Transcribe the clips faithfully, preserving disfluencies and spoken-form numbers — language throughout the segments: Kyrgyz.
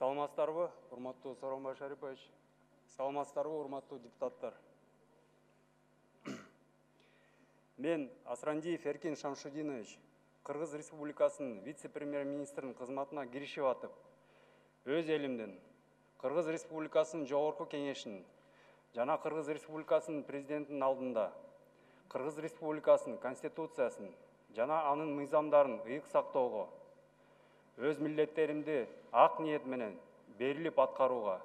Саламатсыздарбы, урматтуу Сооронбай Шарипович. Саламатсыздарбы, урматтуу депутаттар. Мен Асрандиев Эркин Шамшудинович, Кыргыз Республикасынын вице-премьер-министринин кызматына киришип атып, өз элимдин, Кыргыз Республикасынын Жогорку Кеңешинин жана Кыргыз Республикасынын президентинин алдында Кыргыз Республикасынын Конституциясын жана анын мыйзамдарын ыйык сактоого, өз милдеттеримди ак ниет менен берилип аткарууга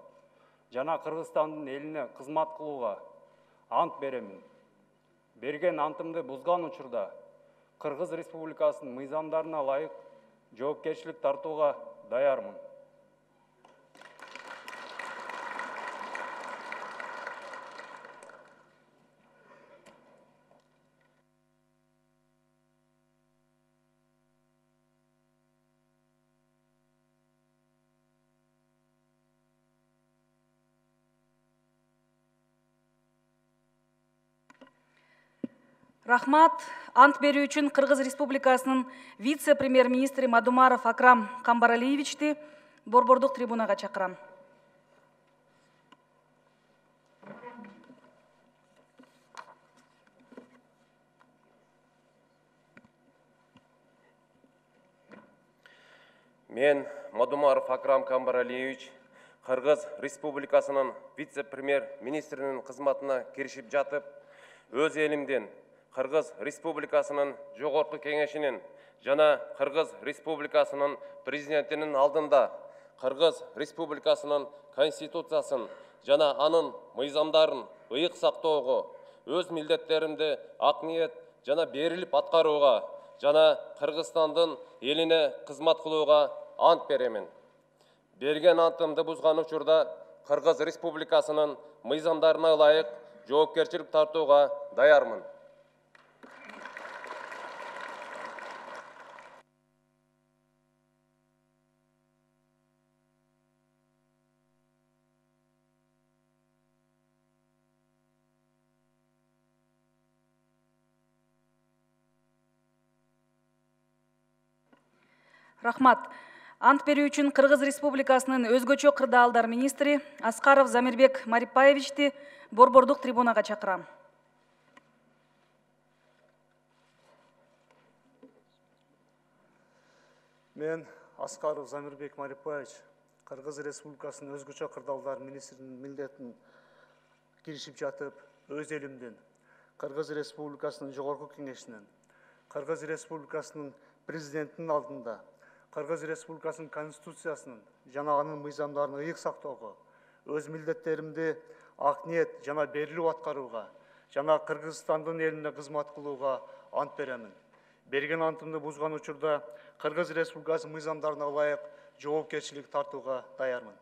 жана Кыргызстандын элине кызмат кылууга ант беремин. Берген антымды бузган учурда Кыргыз Республикасынын мыйзамдарына ылайык жоопкерчилик тартууга даярмын. Рахмат. Ант берүү үчүн Кыргыз Республикасынын вице-премьер-министри Мадумаров Акрам Камбаралиевичти борбордук трибунага чакырам. Мен Мадумаров Акрам Камбаралиевич Кыргыз Республикасынын вице-премьер-министринин кызматына киришип жатып, өз элимдин Кыргыз Республикасынын Жогорку Кеңешинин жана Кыргыз Республикасынын президентинин алдында Кыргыз Республикасынын Конституциясын жана анын мыйзамдарын ыйык сактоого, өз милдеттеримди ак ниет жана берилип аткарууга жана Кыргызстандын элине кызмат кылууга ант беремин. Берген антымды бузган учурда Кыргыз Республикасынын мыйзамдарына ылайык жоопкерчилик тартууга даярмын. Рахмат. Ант берүү үчүн Кыргыз Республикасынын өзгөчө кырдаалдар министри Аскаров Замирбек Марипаевичти борбордук трибунага чакырам. Мен Аскаров Замирбек Марипаевич Кыргыз Республикасынын өзгөчө кырдаалдар министринин милдетин киришип жатып, өз элимдин, Кыргыз Республикасынын Жогорку Кеңешинин, Кыргыз Республикасынын президентинин алдында Кыргыз Республикасынын Конституциясынын жана анын мыйзамдарын ыйык сактоого, өз милдеттеримди ак ниет жана берилип аткарууга жана Кыргызстандын элине кызмат кылууга ант беремин. Берген антымды бузган учурда Кыргыз Республикасынын мыйзамдарына ылайык жоопкерчилик тартууга даярмын.